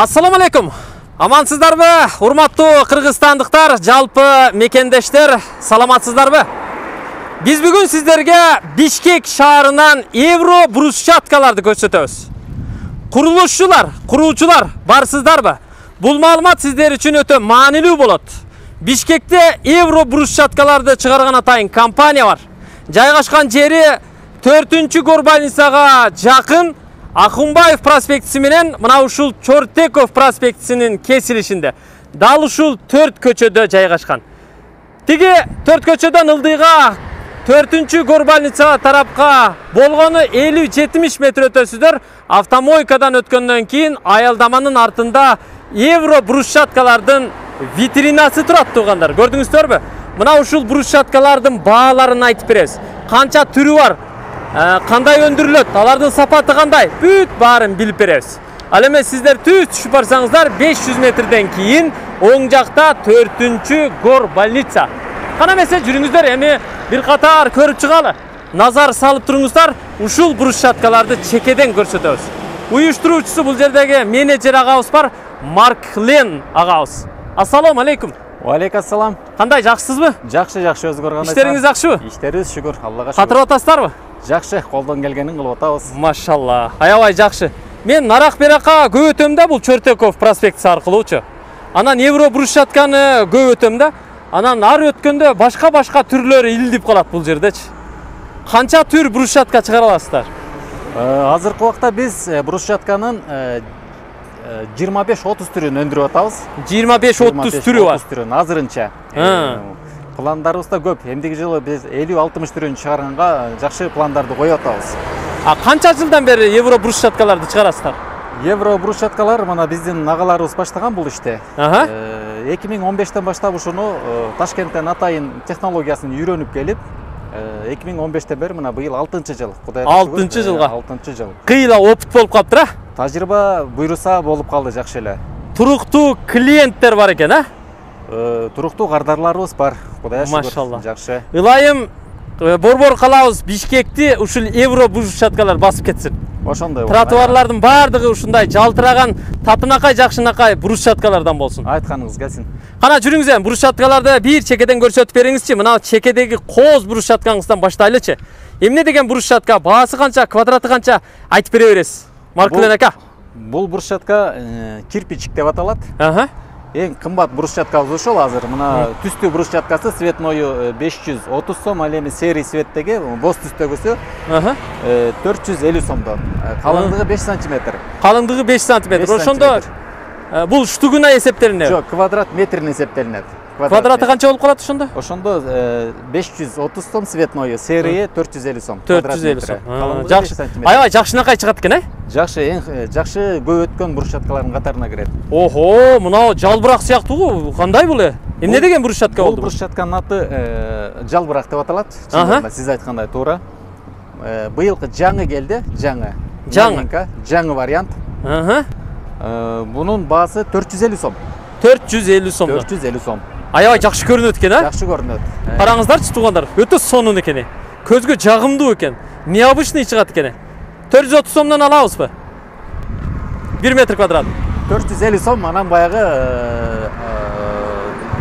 Ассаламу алейкум. Амансыздарбы? Урматтуу кыргызстандыктар, жалпы мекендештер, саламатсыздарбы? Биз бүгүн сиздерге Бишкек шаарынан евро брусчаткаларды көрсөтөбүз. Куруучулар барсыздарбы? Бул маалымат сиздер үчүн өтө маанилүү болот. Бишкекте евро брусчаткаларды чыгарган атайын компания бар. Жайгашкан жери 4-Горбаницага жакын Акунбаев проспектиси менен мына ушул Чортеков проспектисинин кесилишинде. Дал ушул 4 көчөдө жайгашкан. Тиги 4 көчөдөн ылдыйга 4-Горбаница тарапка болгону 50-70 метр өтөсүздөр. Автомойкадан өткөндөн кийин аялдаманын артында евро брусчаткалардын витринасы турат туугандар. Көрдүңүздөрбү? Мына ушул брусчаткалардын бааларын айтып беребиз. Канча түрү бар? Кандай өндүрүлөт, алардын сапаты кандай, бүт баарын билип беребиз. Ал эми сиздер түшүп барсаңыздар 500 метрден кийин оң жакта 4-Горбаница. Кана эмесе жүрүңүздөр, эми бир катар көрүп чыгалы. Назар салып туруңуздар, ушул брусчаткаларды чекеден көрсөтөбүз. Уюштуруучусу бул жердеги менеджер агабыз бар, Марк Лен агабыз. Ассаламу алейкум. Алейкум ассалам. Кандай, жакшысызбы? Жакшы, өзгөр кандай? Иштериңиз жакшыбы? Иштерибиз шүгүр, Аллага шүгүр. Катырып атасыздарбы? Жакшы, колдон келгенин кылып атабыз. Машалла. Аябай жакшы. Мен нарак берака көп өтөм да бул Чортеков проспектиси аркылуучу. Анан евро брусчатканы көп өтөм да. Анан ар өткөндө башка түрлөрү илдип калат бул жердечи. Канча түр брусчатка чыгара аласыздар? Азыркы убакта биз брусчатканын 25-30 түрүн өндүрүп атабыз. 25-30 түрү бар. 30 түрүн азырынча. Пландарыбызда көп. Эмдиги жылы биз 50-60 түрүн чыгарганга жакшы пландарды коюп атабыз. Канча жылдан бери евро брусчаткаларды чыгарасыздар? Евро брусчаткалар мына биздин агаларыбыз баштаган бул ишти. 2015-тен баштап ушуну Ташкенттен атайын технологиясын үйрөнүп келип, 2015-тен бери мына быйыл 6-жыл. 6 жылга. 6 жыл. Кыйла опыт болуп калыптыр, а? Тажрыйба буйруса болуп калды жакшы эле. Туруктуу клиенттер бар экен, а? Туруктуу кардарларыбыз бар. Кудайга шүгүр. Машалла. Жакшы. Ылайым борбор калабыз Бишкекти ушул евро брусчаткалар басып кетсин. Ошондой. Тротуарлардын баардыгы ушундай жалтыраган, татынакай, жакшынакай брусчаткалардан болсун. Айтканыңыз келсин. Кана жүрүңүз, брусчаткаларды бир чекеден көрсөтүп бериңизчи. Мына чекедеги кооз брусчаткаңыздан баштайлычы. Эмне деген брусчатка, баасы канча, квадраты канча айтып бере бересиз. Марклен ака. Бул брусчатка кирпичик деп аталат. Эң кымбат брусчаткабыз ошол азыр. Мына түстүү брусчаткасы цветною 530 сом, ал эми серий цветтеги боз түстөгүсү 450 сомдон. Калыңдыгы 5 сантиметр. Калыңдыгы 5 сантиметр. Ошондо бул штугуна эсептелинет. Жок, квадрат метрине эсептелинет. Квадраты канча болуп калат ошондо? Ошондо 530 сом цветною, серия 450 сом. 450 сом. Жакшы. Аябай жакшынакай чыгат экен, э? Жакшы, эң жакшы көп өткөн брусчаткалардын катарына кирет. Охо, мына жалбырак сыяктуу. Кандай бул? Эмне деген брусчатка болду? Бул брусчатканын аты жалбырак деп аталат. Сиз айткандай туура. Быйылкы жаңы келди, жаңы вариант. Бунун баасы 450 сом. 450 сом. 450 сом. Аябай жакшы көрүнөт экен, а? Жакшы көрүнөт. Караңыздарчы туугандар, өтө сонун экен. Көзгө жагымдуу экен. Необычный чыгат экен. 430 сомдон алабызбы? 1 метр квадрат. 450 сом, анан баягы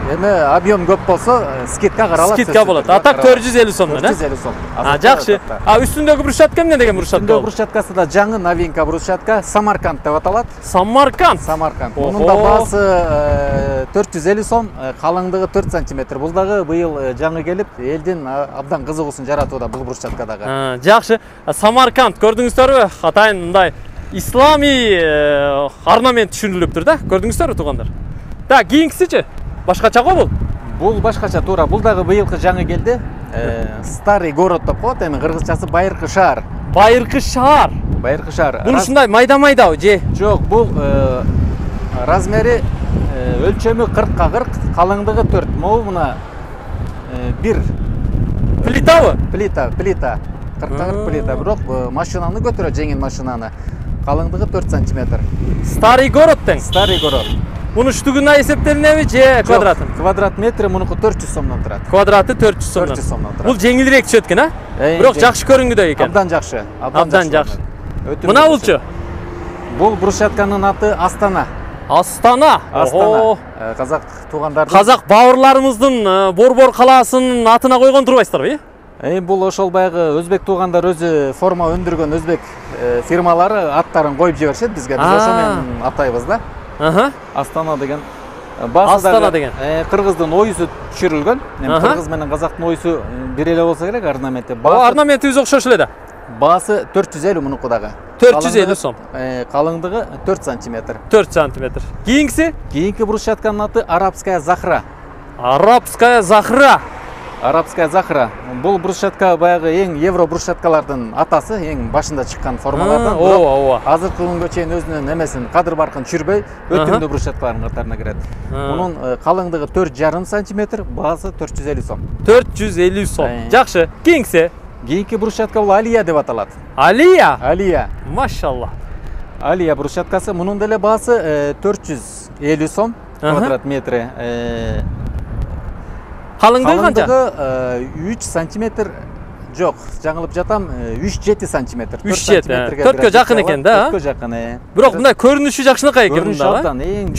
эми объем көп болсо скидка каралат. Скидка болот. А так 450 сомдон, э? 450 сом. Жакшы. Үстүндөгү брусчатка эмне деген брусчатка? Үстүндөгү брусчаткасы да жаңы новинка брусчатка, Самарканд деп аталат. Самарканд. Мунун да баасы 450 сом, калыңдыгы 4 сантиметр. Бул дагы быйыл жаңы келип, элдин абдан кызыгуусун жаратууда бул брусчатка дагы. Жакшы. Самарканд көрдүңүздөрбү? Атайын мындай ислами орнамент түшүрүлүптүр да. Көрдүңүздөрбү туугандар? Да, кийинкисичи? Башкача го бул? Бул башкача, туура. Бул дагы быйылкы жаңы келди. Старый город деп коет, эми кыргызчасы Байыркы шаар. Байыркы шаар. Байыркы шаар. Бул ушундай майда-майдабы же? Жок, бул размери өлчөмү 40-40, калыңдыгы 4. Могу мына бир плитабы? Плита. 40-40 плита. Бирок машинаны көтөрөт, жеңил машинаны. Калыңдыгы 4 сантиметр. Старый город тең? Старый город. Мунун штугуна эсептелинеби же квадратын? Квадрат метри мунуку 400 сомдон турат. Квадраты 400 сомдон. 400 сомдон турат. Бул жеңилирээк түшөт экен, а? Бирок жакшы көрүнгүдөй экен. Абдан жакшы. Абдан жакшы. Мына булчу? Бул брусчатканын аты Астана. Астана. Астана. Казак туугандардын. Казак бауырларымыздын Борбор калаасынын атына койгон турбайсыздарбы? Бул ошол баягы өзбек туугандар өзү форма өндүргөн өзбек фирмалары аттарын коюп жиберишет бизге. Биз ошо менен атайбыз да. Астана деген. Астана деген. Кыргыздын оюсу түшүрүлгөн. Кыргыз менен казактын оюсу бир эле болсо керек орнаменти. Орнаментибиз окшош эле да. Баасы 450 мунуку дагы. 450 сом. Калыңдыгы 4 сантиметр. 4 сантиметр. Кийинкиси? Кийинки брусчатканын аты арабская захра. Арабская захра. Арабская захра. Бул брусчатка баягы эң евро брусчаткалардын атасы, эң башында чыккан формалардан. Ооба. Азыркы күнгө чейин өзүнүн эмесин кадыр баркын түшүрбөй, өтүмдүү брусчаткалардын катарына кирет. Мунун калыңдыгы 4,5 сантиметр, баасы 450 сом. 450 сом. Жакшы. Кийинкиси? Кийинки брусчатка бул Алия деп аталат. Алия? Алия. Машалла. Алия брусчаткасы, мунун деле баасы 450 сом квадрат метри. Калыңдыгы канча? Калыңдыгы 3 сантиметр. Жок, жаңылып жатам, 3-7 сантиметр. 3-7. 4кө жакын экен да? 4кө жакын. Бирок мындай көрүнүшү жакшынакай экен мында.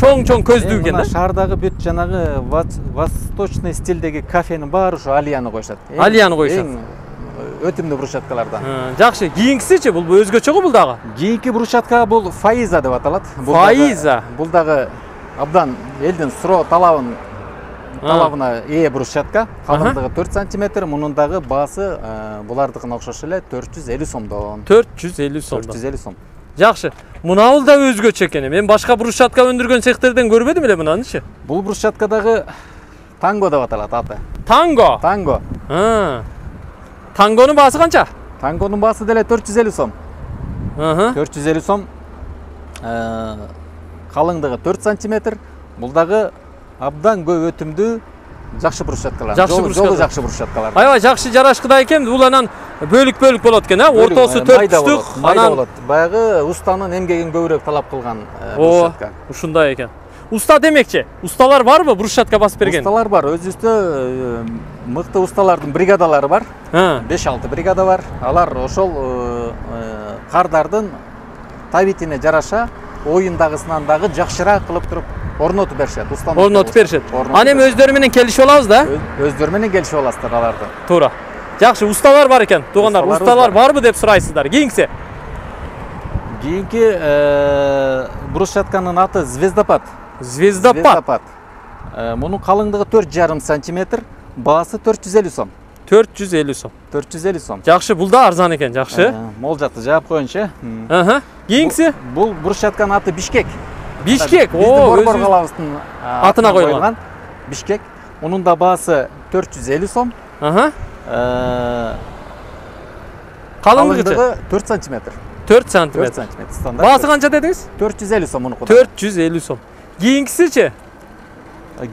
Чоң көздүү экен да? Шаардагы бүт жанагы восточный стилдеги кафенин баары ушу Алияны коюшат. Алияны коюшат. Өтүмдүү брусчаткалардан. Жакшы. Кийинкисичи бул өзгөчөгө бул дагы? Кийинки брусчатка бул Фаиза деп аталат. Фаиза. Бул дагы абдан элдин суроо талабына ээ брусчатка. Калыңдыгы 4 сантиметр, мунун дагы баасы булардыкына окшош эле 450 сомдон. 450 сом. 450 сом. Жакшы. Мунабул да өзгөчө экен. Мен башка брусчатка өндүргөн цехтерден көрбөдүм эле мынанычы. Бул брусчатка дагы Танго деп аталат аты. Танго. Танго. Тангонун баасы канча? Тангонун баасы деле 450 сом. 450 сом. Калыңдыгы 4 сантиметр. Бул дагы абдан көп өтүмдүү жакшы брусчаткалар. Жолу жакшы брусчаткалар. Аябай жакшы жарашкыда экен. Бул анан бөлүк болот экен, ортосу 4 түштүк. Майда болот. Баягы устанын эмгегин көбүрөөк талап кылган брусчатка. Ушундай экен. Уста демекчи. Усталар барбы брусчатка басып берген? Усталар бар. Өзүбүздө мыкты усталардын бригадалары бар. 5-6 бригада бар. Алар ошол кардардын табитине жараша оюндагысынан дагы жакшыраак кылып туруп орнотуп беришет. Орнотуп беришет. Аны эми өздөрү менен келишип алабыз да? Өздөрү менен келишип аласыздар аларды. Туура. Жакшы, усталар бар экен. Туугандар, усталар барбы деп сурайсыздар. Кийинкиси? Кийинки брусчатканын аты Звездопад. Звездопад. Мунун калыңдыгы 4,5 сантиметр, баасы 450 сом. 450 сом. 450 сом. Жакшы, бул да арзан экен, жакшы. Молжакты жаап коеюнчу. Кийинкиси? Бул брусчатканын аты Бишкек. Бишкек. Борбор калабыздын атына коюлган. Бишкек. Мунун да баасы 450 сом. Калыңдыгы 4 сантиметр. 4 сантиметр. 4 сантиметр стандарт. Баасы канча дедиңиз? 450 сом мунуку. 450 сом. Кийинкисичи?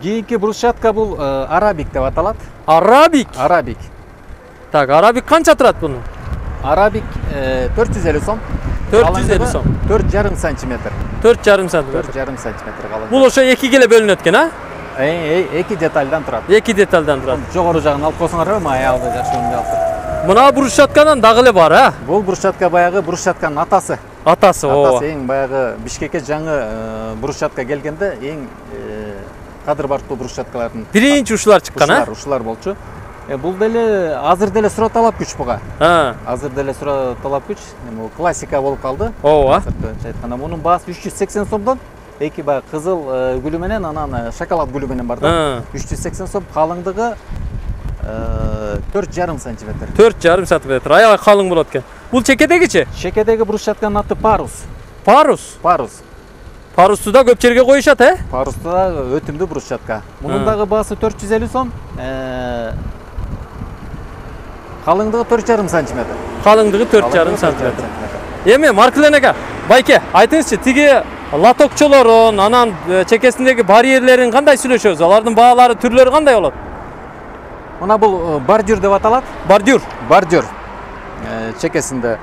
Кийинки брусчатка бул Арабик деп аталат. Арабик. Арабик. Так, Арабик канча турат бунун? Арабик 450 сом. 450 сом. 4,5 сантиметр. 4,5 сантиметр. 4,5 сантиметр калың. Бул ошо экиге эле бөлүнөт экен, а? Эки детальдан турат. Эки детальдан турат. Жогору жагын алып койсоңор, аялды жакшы өңдүп алып. Мына брусчатканын дагы эле бар, а? Бул брусчатка баягы брусчатканын атасы. Атасы, ооба. Атасы эң баягы Бишкекке жаңы брусчатка келгенде эң кадыр бартуу брусчаткалардын биринчи ушулар чыккан, а? Ушулар болчу. Бул деле азыр деле суроо талап күч буга. Азыр деле суроо талап күч. Бул классика болуп калды. Ооба. Айтканда мунун баасы 380 сомдон, эки баягы кызыл гүлү менен, анан шоколад гүлү менен бар да. 380 сом, калыңдыгы 4,5 сантиметр. 4,5 сантиметр. Аябай калың болот экен. Бул чекедегичи? Чекедеги брусчатканын аты Парус. Парус. Парус. Парусту да көп жерге коюшат, Парусту да өтүмдүү брусчатка. Мунун дагы баасы 450 сом. Калыңдыгы 4,5 сантиметр. Калыңдыгы 4,5 сантиметр. Эми Маркулен ака, байке, айтыңызчы, тиги лотокчолорун, анан чекесиндеги барьерлерин кандай сүйлөшөбүз? Алардын баалары, түрлөрү кандай болот? Мына бул бордюр деп аталат. Бордюр. Бордюр. Чекесинде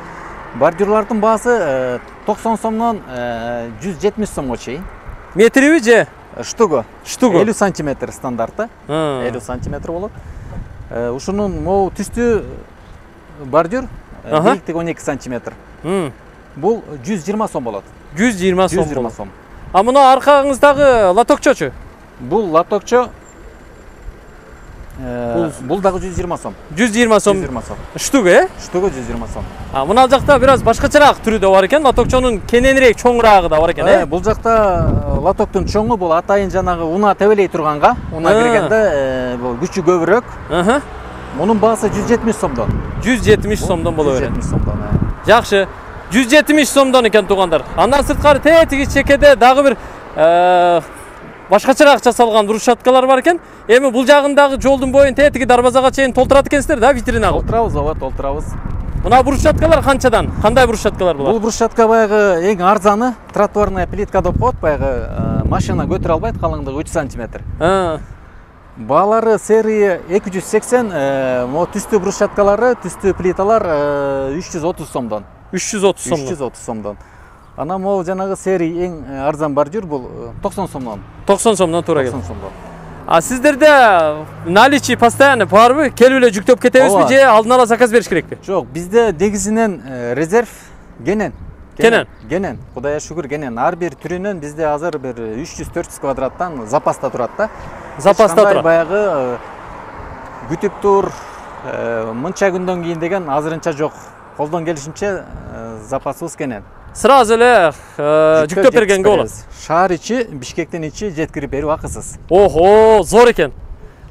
бордюрлардын баасы 90 сомдон 170 сомго чейин. Метриби же? Штугу. 50 сантиметр стандартта. 50 сантиметр болот. Ушунун могу түстүү бордюр бийликтиги 12 сантиметр. Бул 120 сом болот. 120 сом. 120 сом. А мына аркаңыздагы лотокчочу? Бул лотокчо бул дагы 120 сом. 120 сом. 120 сом. Штуга, Штуга 120 сом. А мына жакта бир аз башкачараак түрү да бар экен. Лотокчонун кененирээк, чоңураагы да бар экен, Бул жакта лотоктун чоңу бул атайын жанагы унаа тебелей турганга, унаа киргенде бул күчү көбүрөөк. Мунун баасы 170 сомдон. 170 сомдон боло берет. 170 сомдон. Жакшы. 170 сомдон экен туугандар. Андан сырткары тетиги чекеде дагы бир башкачараак жасалган брусчаткалар бар экен. Эми бул жагындагы жолдун боюн тетиги дарбазага чейин толтурат экенсиздер да, витрина кылып. Толтурабыз, ооба, толтурабыз. Мына брусчаткалар канчадан? Кандай брусчаткалар булар? Бул брусчатка баягы эң арзаны тротуарная плитка деп коет, баягы машина көтөрө албайт, калыңдыгы 3 сантиметр. Баалары серия 280, мо түстүү брусчаткалары, түстүү плиталар 330 сомдон. 330 сомдон. 330 сомдон. Ана могу жанагы серия эң арзан бар жүр, бул 90 сомдон. 90 сомдон туура келет. 90 сомдон. А сиздерде наличие постоянно барбы? Келип эле жүктөп кетебизби же алдын ала заказ бериш керекпи? Жок, бизде негизинен резерв кенен. Кенен. Кудайга шүгүр кенен. Ар бир түрүнөн бизде азыр бир 300-400 квадраттан запаста турат да. Запаста турат. Баягы күтүп тур, мынча күндөн кийин деген азырынча жок. Колдон келишинче запасыбыз кенен. Сразу эле жүктөп бергенге болот. Шаар ичи, Бишкектин ичи жеткирип берүү акысыз. Охо, зор экен.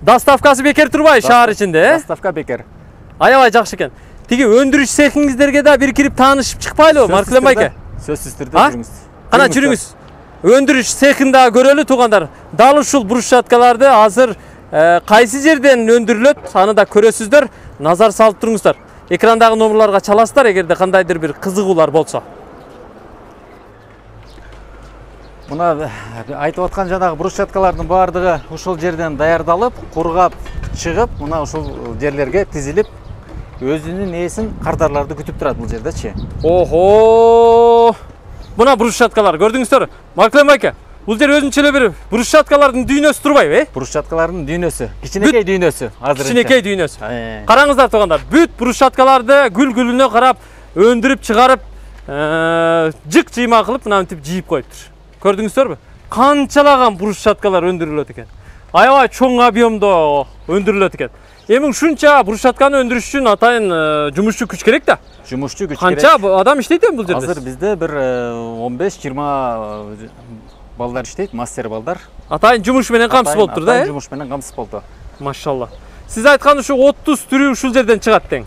Доставкасы бекер турбай шаар ичинде, Доставка бекер. Аябай жакшы экен. Тиги өндүрүш цехиңиздерге да бир кирип таанышып чыкпайлыбы, Маркулен байке? Сөзсүз түрдө жүрүңүз. Кана жүрүңүз. Өндүрүш цехин да көрөлү туугандар. Дал ушул брусчаткаларды азыр кайсы жерден өндүрүлөт, аны да көрөсүздөр. Назар салып туруңуздар. Экрандагы номерларга чаласыздар эгерде кандайдыр бир кызыгуулар болсо. Мына айтып аткан жанагы брусчаткалардын баардыгы ушул жерден даярдалып, кургап чыгып, мына ушул жерлерге тизилип, өзүнүн ээсин кардарларды күтүп турат бул жердечи. Охо! Мына брусчаткалар көрдүңүздөр. Маркулен байке, бул жер өзүнчө эле бир брусчаткалардын дүйнөсү турбайбы, Брусчаткалардын дүйнөсү, кичинекей дүйнөсү азыр. Кичинекей дүйнөсү. Караңыздар туугандар, бүт брусчаткаларды гүл-гүлүнө карап, өндүрүп чыгарып, жык-жыйма кылып, мынантип жийип коюптур. Көрдүңүздөрбү? Канчалаган брусчаткалар өндүрүлөт экен. Аябай чоң объемдо өндүрүлөт экен. Эми ушунча брусчатканы өндүрүш үчүн атайын жумушчу күч керек да. Жумушчу күч керек. Канча адам иштейт эми бул жерде? Азыр бизде бир 15-20 балдар иштейт, мастер балдар. Атайын жумуш менен камсыз болуп тур да, Атайын жумуш менен камсыз болду. Машалла. Сиз айткан ушу 30 түрү ушул жерден чыгат тең.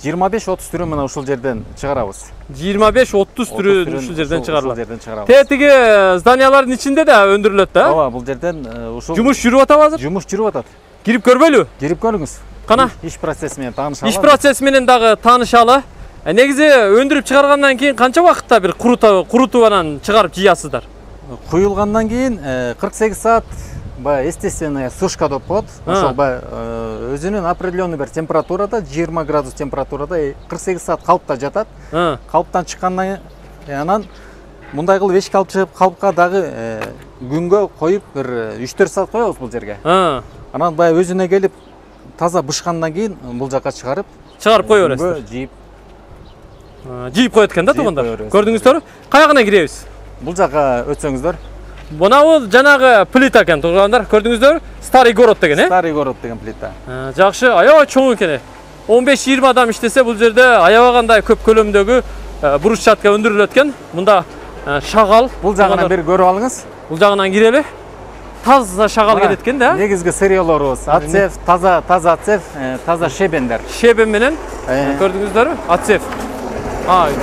25-30 түрү мына ушул жерден чыгарабыз. 25-30 түрү ушул жерден чыгарылат. Тетиги Тетиги зданиялардын ичинде да өндүрүлөт да? Ооба, бул жерден ушул жумуш жүрүп атабы азыр? Жумуш жүрүп атат. Кирип көрбөйлүбү? Кирип көрүңүз. Кана? Иш процесси менен таанышалы. Иш процесси менен дагы таанышалы. Негизи өндүрүп чыгаргандан кийин канча убакытта бир курутуп анан чыгарып жыясыздар? Куюлгандан кийин 48 саат баягы естественная сушка деп коет. Ошол баягы өзүнүн определенный бир температурада, 20 градус температурада 48 саат калыпта жатат. Калыптан чыккандан кийин анан мындай кылып эшикке алып чыгып калыпка дагы күнгө коюп бир 3-4 саат коебуз бул жерге. Анан баягы өзүнө келип таза бышкандан кийин бул жака чыгарып кое бересиз. Жийип коет экен да туугандар. Көрдүңүздөрбү? Каягына киребиз? Бул жака өтсөңүздөр. Мына бул жанагы плита экен туугандар. Көрдүңүздөрбү? Старый город деген, Старый город деген плита. Жакшы, аябай чоң экен. 15-20 адам иштесе бул жерде аябагандай көп көлөмдөгү брусчатка өндүрүлөт экен. Мында шагал. Бул жагынан бир көрүп алыңыз. Бул жагынан кирели. Таза шагал келет экен да? Негизги сырьёлорубуз отсев, таза отсев, таза шебендер. Шебен менен көрдүңүздөрбү? Отсев.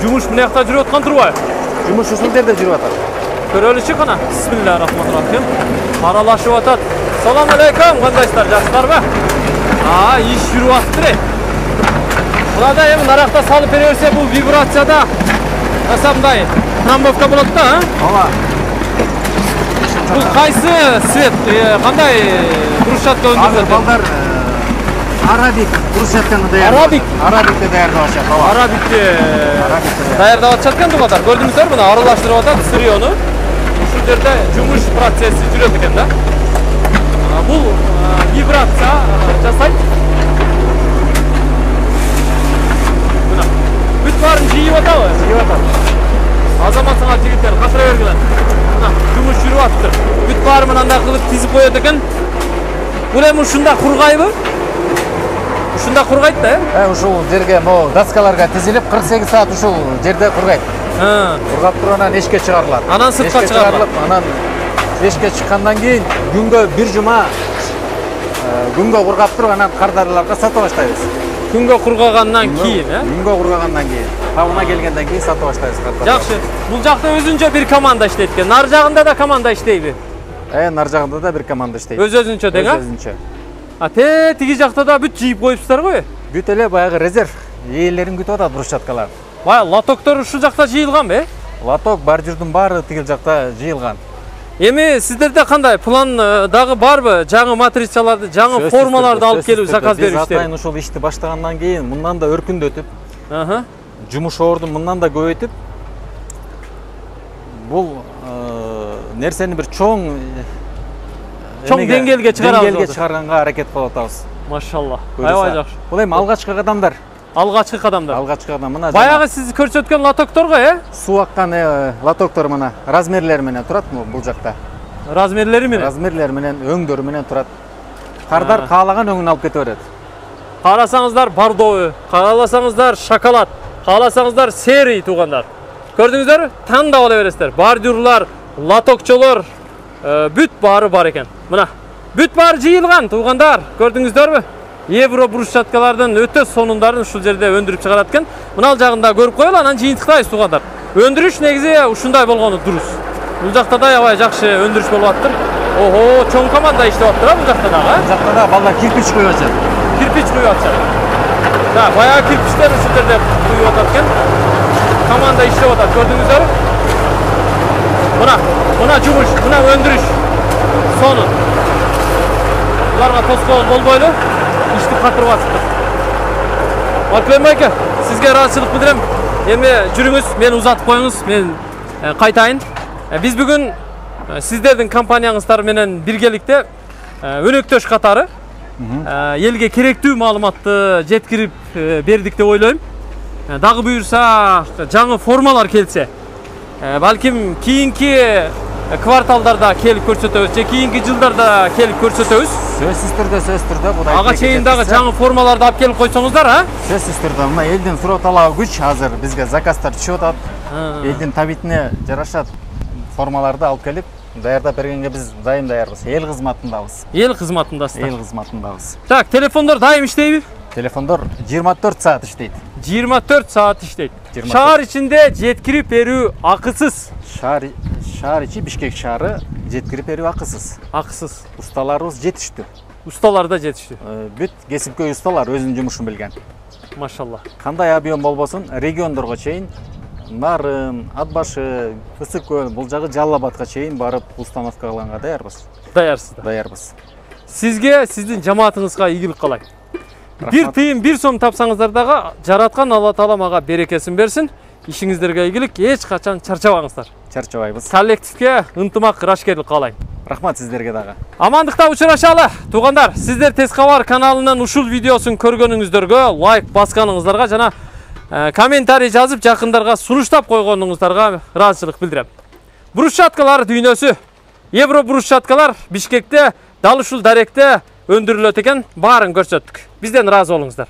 Жумуш мына жакта жүрүп аткан турбайбы? Жумуш ушул жерде жүрүп атат. Көрөлүчү кана. Бисмиллахиррахманиррахим. Аралашып атат. Салам алейкум, кандайсыздар, жакшыларбы? Иш жүрүп атыптыр. Мынада эми наракта салып бере берсе бул вибрацияда мындай трамбовка болот да, Ооба. Бул кайсы свет, кандай брусчатка өндүрүлөт? Балдар арабик брусчатканы Арабик? Арабикти даярдап атышат. Арабикти даярдап атышат экен туугандар. Көрдүңүздөрбү? Мына аралаштырып атат сырьёну. Ушул жерде жумуш процесси жүрөт экен да. Бул вибрация жасайт. Мына бүт баарын жыйып атабы? Жыйып атат. Азамат сага жигиттер катыра бергиле. Мына жумуш баары мындай кылып тизип коет экен. Бул эми ушунда кургайбы? Ушунда кургайт да, ушул жерге могу доскаларга тизилип 48 саат ушул жерде кургайт. Кургап туруп анан эшикке чыгарылат. Анан сыртка чыгарылат. Анан эшикке чыккандан кийин күнгө бир жума күнгө кургап туруп анан кардарыларга сата баштайбыз. Күнгө кургагандан кийин, Күнгө кургагандан кийин, табына келгенден кийин сата баштайбыз кардарды. Жакшы. Бул жакта өзүнчө бир команда иштейт экен. Нар жагында да команда иштейби? Нар жагында да бир команда иштейт. Өзүнчө дең, Өзүнчө. Тиги жакта да бүт жыйып коюпсуздар го? Бүт эле баягы резерв ээлерин күтүп атат брусчаткалар. Баягы лотоктор ушул жакта жыйылганбы? Лоток бордюрдун баары тигил жакта жыйылган. Эми сиздерде кандай план дагы барбы? Жаңы матрицаларды, жаңы формаларды алып келип заказ бериштер? Биз атайын ушул ишти баштагандан кийин мындан да өркүндөтүп, жумуш ордун мындан да көбөйтүп, бул нерсени бир чоң деңгээлге чыгарганга аракет кылып атабыз. Машалла. Аябай жакшы. Бул эми алгачкы кадамдар. Алгачкы кадамдар. Алгачкы кадам. Мына баягы сиз көрсөткөн лотокторго, суу аккан лотоктор мына размерлери менен турат бул жакта. Размерлери менен? Размерлери менен, өңдөрү менен турат. Кардар каалаган өңүн алып кете берет. Карасаңыздар бордовый, кааласаңыздар шоколад, кааласаңыздар серый туугандар. Көрдүңүздөрбү? Тандап ала бересиздер. Бордюрлар, лотокчолор бүт баары бар экен. Мына бүт баары жыйылган туугандар. Көрдүңүздөрбү? Евро брусчаткалардын өтө сонундарын ушул жерде өндүрүп чыгарат экен. Мына жагында көрүп коелу, анан жыйынтыктайбыз туугандар. Өндүрүш негизи ушундай болгону дурус. Бул жакта да аябай жакшы өндүрүш болуп атыр. Ого, чоң команда иштеп атыр бул жакта дагы. Бул жакта да балдар кирпич куюп атышат. Кирпич куюп атышат. Да, баягы кирпичтер ушул жерде куюп атат экен. Команда иштеп атат, көрдүңүздөрбү? Мына жумуш, мына өндүрүш. Сону. Буларга тоскоол болбойлу. Ишти катырып атыптыр. Аркылем байке, сизге ыраазычылык билдирем. Эми жүрүңүз, мени узатып коюңуз, мен кайтайын. Биз бүгүн сиздердин компанияңыздар менен биргеликте өнөктөш катары элге керектүү маалыматты жеткирип бердик деп ойлойм. Дагы буюрса, жаңы формалар келсе, балким кийинки кварталдарда келип көрсөтөбүз, же кийинки жылдарда келип көрсөтөбүз. Сөзсүз түрдө будай. Ага чейин дагы жаңы формаларды алып келип койсоңуздар, Сөзсүз түрдө. Мына элдин суроо талабы күч, азыр бизге заказдар түшүп атат. Элдин табитине жараша формаларды алып келип даярдап бергенге биз дайым даярбыз. Эл кызматындабыз. Эл кызматындасыздар. Эл кызматындабыз. Так, телефондор дайым иштейби? Телефондор 24 саат иштейт. 24 саат иштейт. Шаар ичинде жеткирип берүү акысыз. Шаар ичи Бишкек шаары жеткирип берүү акысыз. Акысыз. Усталарыбыз жетиштүү. Усталар да жетиштүү. Бүт кесипкөй усталар өзүнүн жумушун билген. Машалла. Кандай объем болбосун, региондорго чейин, Нарын, Ат башы, Ысык көл, бул жагы Жалал Абадка чейин барып установка кылганга даярбыз. Даярсыздар. Даярбыз. Сизге, сиздин жамаатыңызга ийгилик каалайм. Бир тыйын, бир сом тапсаңыздар дагы жараткан Алла Таала мага берекесин берсин. Ишиңиздерге ийгилик, эч качан чарчабаңыздар. Чарчабайбыз. Коллективге ынтымак, ырашкерлик каалайм. Рахмат сиздерге дагы. Амандыкта учурашалы. Туугандар, сиздер Тез кабар каналынын ушул видеосун көргөнүңүздөргө лайк басканыңыздарга жана комментарий жазып жакындарга сунуштап койгонуңуздарга ыраазычылык билдирем. Брусчаткалар дүйнөсү, Евро брусчаткалар Бишкекте, дал ушул даректе өндүрүлөт экен, баарын көрсөттүк. Бизден ыраазы болуңуздар.